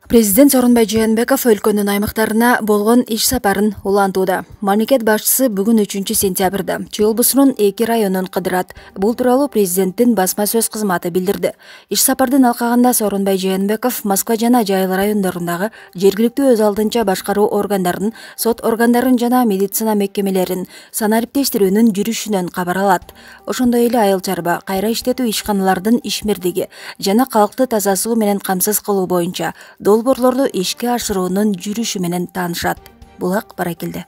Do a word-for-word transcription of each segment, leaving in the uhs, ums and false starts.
Президент Сооронбай Жээнбеков өлкөнүн аймактарына болгон иш сапарын улантууда. Мамлекет башчысы бүгүн үчүнчү сентябрда Чүй облусунун эки районун кыдырат. Бул тууралуу президенттин басма сөз кызматы билдирди. Иш сапардын алкагында Сооронбай Жээнбеков Москва жана Жайыл райондорундагы жергиликтүү өз алдынча башкаруу органдарын, сот органдарын жана медицина мекемелерин санариптештирүүнүн жүрүшүнөн кабар алат. Ошондой эле айыл чарба, кайра иштетүү ишканалардын ишмердиги жана калкты таза суу менен камсыз кылуу боюнча долбоорлорду ишке ашыруунун жүрүшү менен таанышат. Булак Баракелде.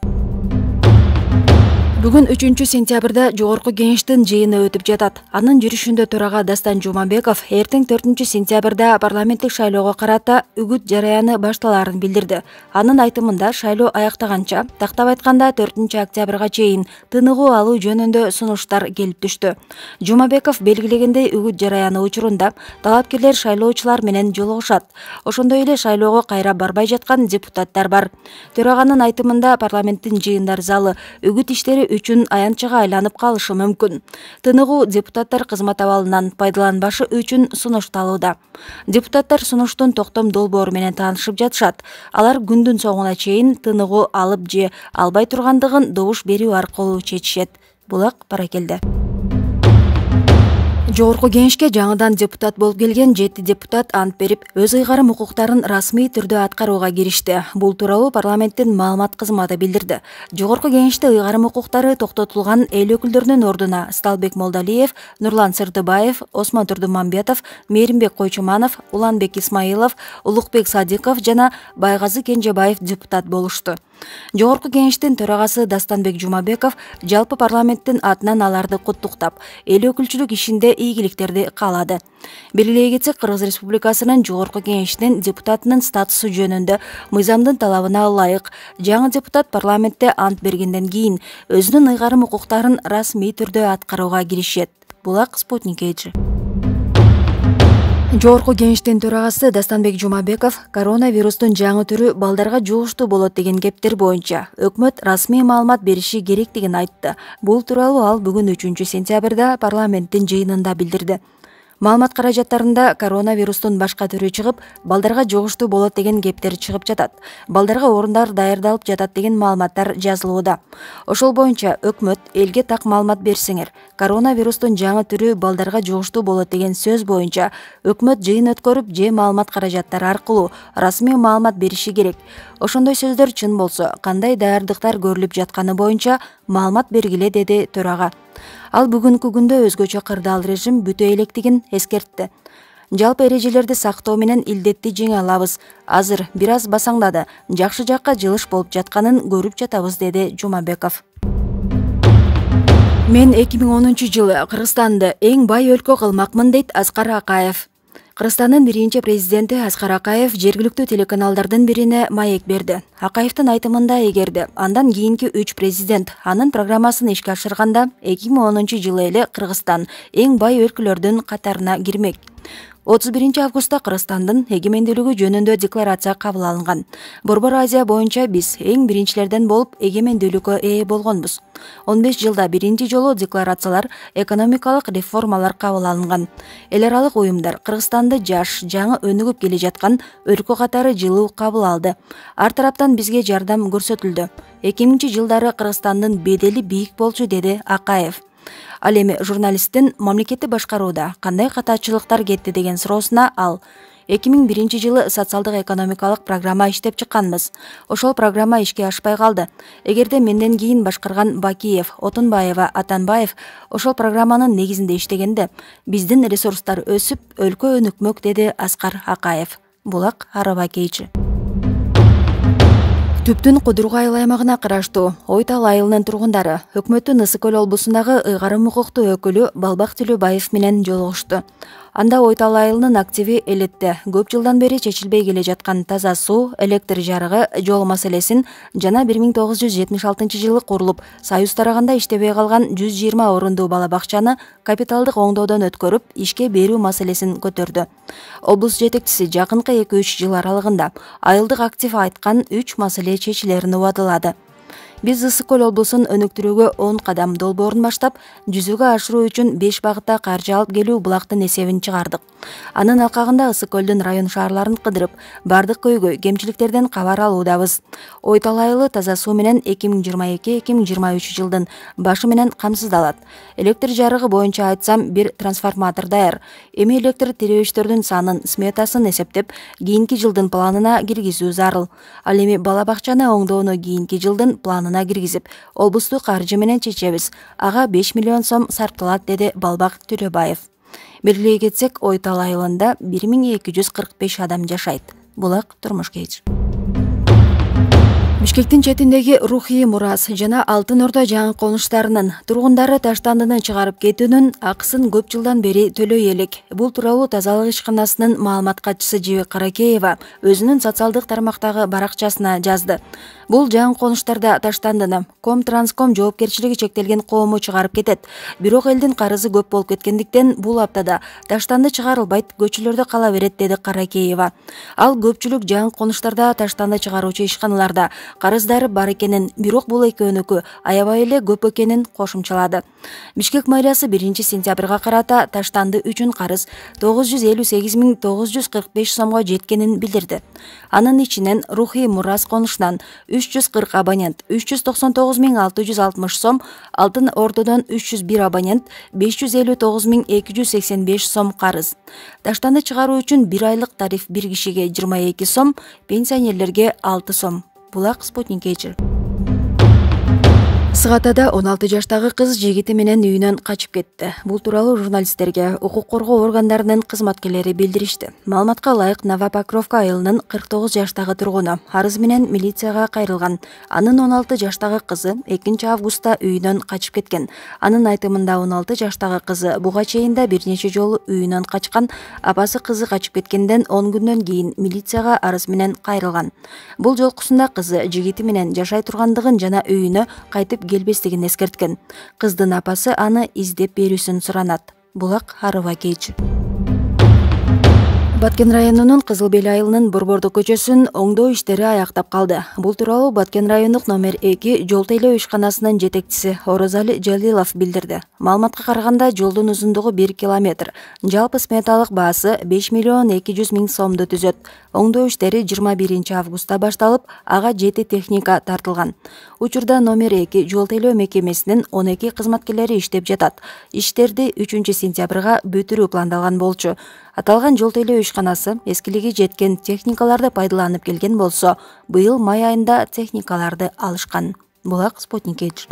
Бүгүн үчүнчү сентябрда Жогорку Кеңештин жыйыны өтүп жатат. Анын жүрүшүндө төрага Дастан Жумабеков эртең төртүнчү сентябрда парламенттик шайлоого карата үгүт жараяны башталаарын билдирди. Анын айтымында шайлоо аяктаганча, тактап айтканда төртүнчү октябрга чейин тыныгуу алуу жөнүндө сунуштар келип түштү. Жумабеков белгилегендей, үгүт жараяны учурунда талапкерлер шайлоочулар менен жолугушат. Ошондой эле шайлоого кайра барбай жаткан депутаттар бар. Төраганын айтымында парламенттин жыйындар залы үгүт иштери үчүн аянтчага айланып калышы мүмкүн. Тыныгуу депутаттар кызмат абалынан пайдаланбашы үчүн сунушталууда. Депутаттар сунуштун токтом долбоору менен таанышып жатышат. Алар күндүн соңуна чейин тыныгуу алып же албай тургандыгын добуш берүү аркылуу чечишет. Булак Баракелде. Жогорку Кеңешке жаңыдан депутат болуп келген жети депутат ант берип, өз ыйгарым укуктарын расмий түрдө аткарууга киришти. Бул тууралуу парламенттин маалымат кызматы билдирди. Жогорку Кеңеште ыйгарым укуктары токтотулган эл өкүлдөрүнүн ордуна Сталбек Молдалиев, Нурлан Сырдыбаев, Осмон Турдумамбетов, Мээримбек Койчуманов, Уланбек Исмаилов, Улукбек Садыков жана Байгазы Кенжебаев депутат болушту. Жогорку Кеңештин төрагасы Дастанбек Жумабеков жалпы парламенттин атынан аларды куттуктап, эл өкүлчүлүк ишинде ийгиликтерди каалады. Белгилей кетсек, Кыргыз Республикасынын Жогорку Кеңешинин депутатынын статусу жөнүндө мыйзамдын талабына ылайык жаңы депутат парламентте ант бергенден кийин өзүнүн ыйгарым укуктарын расмий түрдө аткарууга киришет. Булак Спутник эйчи. Жогорку Кеңештин төрагасы Дастанбек Жумабеков коронавирустун жаңы түрү балдарга жугуштуу болот деген кептер боюнча өкмөт расмий маалымат бериши керектигин айтты. Бул тууралуу ал бүгүн үчүнчү сентябрда парламенттин жыйынында билдирди. Маалымат каражаттарында коронавирустун башка түрү чыгып, балдарга жугуштуу болот деген кептер чыгып жатат. Балдарга орундар даярдалып жатат деген маалыматтар жазылууда. Ошол боюнча өкмөт элге так маалымат берсеңер, коронавирустун жаңы түрү балдарга жугуштуу болот деген сөз боюнча өкмөт жыйын өткөрүп же маалымат каражаттары аркылуу расмий маалымат бериши керек. Ошондой сөздөр чын болсо, кандай даярдыктар көрүлүп жатканы боюнча маалымат бергиле, деди төрага. Ал бүгүнкү күндө өзгөчө кырдаал режим бүтө электигин эскертти. Жалпы эрежелерди сактоо менен илдетти жеңе алабыз. Азыр бир аз басаңдады, жакшы жакка жылыш болуп жатканын көрүп жатабыз, деди Жумабеков. Мен эки миң онунчу жылы Кыргызстанды эң бай өлкө кылмакмын, дейт Аскар Акаев. Кыргызстандын биринчи президенти Аскар Акаев жергиликтүү телеканалдардын бирине маек берди. Акаевдин айтымында, эгерде андан кийинки үч президент анын программасын ишке ашырганда эки миң онунчу жылы эле Кыргызстан эң бай өлкөлөрдүн катарына кирмек. отуз биринчи августта Кыргызстандын эгемендүүлүгү жөнүндө декларация кабыл алынган. Борбор Азия боюнча биз эң биринчилерден болуп эгемендүүлүккө ээ болгонбуз. он беш жылда биринчи жолу декларациялар, экономикалык реформалар кабыл алынган. Эл аралык уюмдар Кыргызстанды жаш, жаңы өнүгүп келе жаткан өлкө катары жылуу кабыл алды. Ар тараптан бизге жардам көрсөтүлдү. эки миңинчи жылдары Кыргызстандын бедели бийик болчу, деди Акаев. Ал эми журналисттин мамлекетти башкарууда кандай катачылыктар кетти деген суроосуна ал: эки миң биринчи жылы социалдык экономикалык программа иштеп чыкканбыз. Ошол программа ишке ашпай калды. Эгерде менден кийин башкарган Бакиев, Отунбаева, Атанбаев ошол программанын негизинде иштегенде биздин ресурстар өсүп, өлкө өнүкмөк, деди Аскар Акаев. Булак Араба Кейчи. Түптүн Кудургай айыл аймагына караштуу Ой Тал айылынын тургундары өкмөттүн Ысык Көл облусундагы ыйгарым укуктуу өкүлү Балбак Төлөбаев менен жолугушту. Анда Ой Тал айылынын активи элетте көп жылдан бери чечилбей келе жаткан таза суу, электр жарыгы, жол маселесин жана бир миң тогуз жүз жетимиш алтынчы жылы курулуп, Союз тараганда иштебей калган жүз жыйырма орундуу бала бакчаны капиталдык оңдоодон өткөрүп, ишке берүү маселесин көтөрдү. Облус жетекчиси жакынкы эки үч жыл аралыгында айылдык актив айткан үч маселе чечилерин убадылады. Биз Ысык көл облусун өнүктүрүүгө он кадам долбоорун баштап, жүзөгө ашыруу үчүн беш багытта каржы алып келүү булактын эсебин чыгардык. Анын алкагында Ысык көлдүн район шаарларын кыдырып, бардык көйгөй, кемчиликтерден кабар алуудабыз. Ой талайылы таза суу менен эки миң жыйырма эки эки миң жыйырма үч жылдын башы менен камсыздалат. Электр жарыгы боюнча айтсам, бир трансформатор даяр. Эми электр тирөөчтөрдүн санын, сметасын эсептеп, кийинки жылдын планына киргизүү зарыл. Ал эми бала бакчаны оңдоону кийинки жылдын планына киргизип, облустук каржы менен чечебиз. Ага беш миллион сом сарпталат, деди Балбак Төрөбаев. Белгилей кетсек, Ой талайылында бир миң эки жүз кырк беш адам жашайт. Булак турмуш кеч. Бишкектин четиндеги рухий мурас жана Алтын Ордо жаңы конуштарынын тургундары таштандыны чыгарып кетүүнүн акысын көп жылдан бери төлөй элек. Бул тууралуу тазалык ишканасынын маалымат катчысы Жебек Каракеева өзүнүн социалдык тармактагы баракчасына жазды. Бул жаңы конуштарда таштандыны Комтранском жоопкерчилиги чектелген коому чыгарып кетет. Бирок элдин карызы көп болуп кеткендиктен бул аптада таштанды чыгарылбайт, көчөлөрдө кала берет, деди Каракеева. Ал көпчүлүк жаңы конуштарда таштанды чыгаруучу ишканаларда карыздары бар экенин, бирок бул экөөнүкү аябай эле көп экенин кошумчалады. Бишкек мэриясы биринчи сентябрга карата таштанды үчүн карыз тогуз жүз элүү сегиз миң тогуз жүз кырк беш сомго жеткенин билдирди. Анын ичинен рухий мурас конушунан үч жүз кырк абонент үч жүз токсон тогуз миң алты жүз алтымыш сом, Алтын Ордодон үч жүз бир абонент беш жүз элүү тогуз миң эки жүз сексен беш сом карыз. Таштанды чыгаруу үчүн бир айлык тариф бир кишиге жыйырма эки сом, пенсионерлерге алты сом. Булак Спутник Кечир. Сыгатада он алты жаштагы кыз жигити менен үйүнөн качып кетти. Бул тууралуу журналисттерге укук коргоо органдарынын кызматкерлери билдиришти. Маалыматка ылайык, Новопокровка айылынын кырк тогуз жаштагы тургуну арыз менен милицияга кайрылган. Анын он алты жаштагы кызы экинчи августта үйүнөн качып кеткен. Анын айтымында он алты жаштагы кызы буга чейин да бир нече жолу үйүнөн качкан. Апасы кызы качып кеткенден он күндөн кийин милицияга арыз менен кайрылган. Бул жолкусунда кызы жигити менен жашай тургандыгын жана үйүнө кайтып келбестигин эскерткен. Кыздын апасы аны издеп берүүсүн суранат. Булак Арыва Кеч. Баткен районунун Кызыл Бел айылынын Борбордук көчөсүн оңдоо иштери аяктап калды. Бул тууралуу Баткен райондук номер эки жол тейлөө ишканасынын жетекчиси Орозали Жалилов билдирди. Маалыматка караганда, жолдун узундугу бир километр. Жалпы сметалык баасы беш миллион эки жүз миң сомду түзөт. Оңдоо иштери жыйырма биринчи августта башталып, ага жети техника тартылган. Учурда номер эки жол тейлөө мекемесинин он эки кызматкерлери иштеп жатат. Иштерди үчүнчү сентябрга бүтүрүү пландалган болчу. Аталган жол тейлөө ишканасы эскилиги жеткен техникаларды пайдаланып келген болсо, быйыл май айында техникаларды алышкан. Булак Спутник Кеч.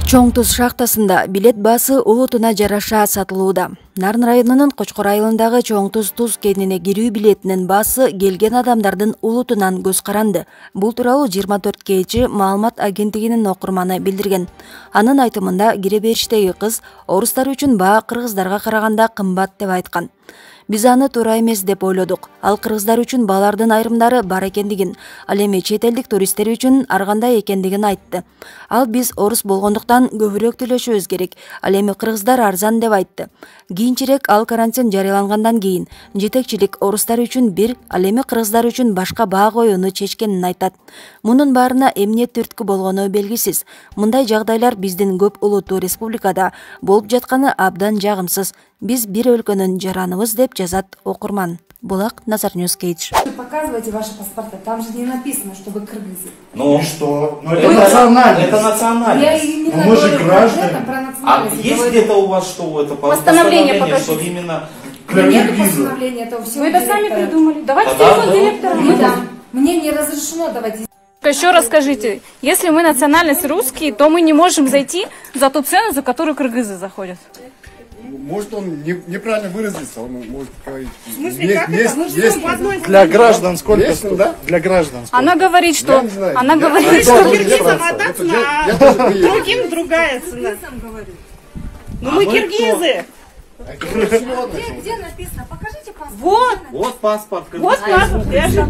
Чоң Туз шахтасында билет баасы улутуна жараша сатылууда. Нарын районунун Кочкор айылындагы Чоң Туз туз кенине кирүү билетинин баасы келген адамдардын улутунан көз каранды. Бул тууралуу жыйырма төрт кечи маалымат агенттигинин окурманы билдирген. Анын айтымында, кире бериштеги кыз орустар үчүн баа кыргыздарга караганда кымбат деп айткан. Биз аны туура эмес деп ойлодук. Ал кыргыздар үчүн баалардын айрымдары бар экендигин, ал эми чет элдик туристтер үчүн ар кандай экендигин айтты. Ал биз орус болгондуктан көбүрөөк төлөшүбүз керек. Ал эми кыргыздар арзан деп айтты. Кийинчерээк ал карантин жарыялангандан кийин жетекчилик орустар үчүн бир, ал эми кыргыздар үчүн башка баа коюуну чечкенин айтат. Мунун баарына эмне түрткү болгону белгисиз. Мындай жагдайлар биздин көп улуттуу республикада болуп жатканы абдан жагымсыз. Биз бир өлкөнүн жараныбыз, деп жазат окурман. Булак Назар Ньюс Кейдж. Показывайте ваши паспорта, там же не написано, что вы кыргызы. Ну что? Ну это национальность. Это национальность. Я именно мы же говорю граждане. про, про А национальность. есть где-то у вас что это Постановление покажите. что именно... Нет постановления, это все. Вы это сами придумали. Давайте Да, телефон да. директора. Не дам. Мне не разрешено давать. Еще раз скажите, если мы национальность русские, то мы не можем зайти за ту цену, за которую кыргызы заходят. Может, он не, неправильно выразился, он может говорить. В смысле, как это? Мы живем в одной Для граждан сколько Лестно, да? Для граждан сколько? Она говорит, что... Я не знаю. Она Я- говорит, я что... тоже не Киргизам француз. одна Это цена, я- я а тоже приехал. другим другая цена. Ну А мы мы киргизы. Где, где написано? Покажите паспорт. Вот, Вот паспорт. вот паспорт. Я же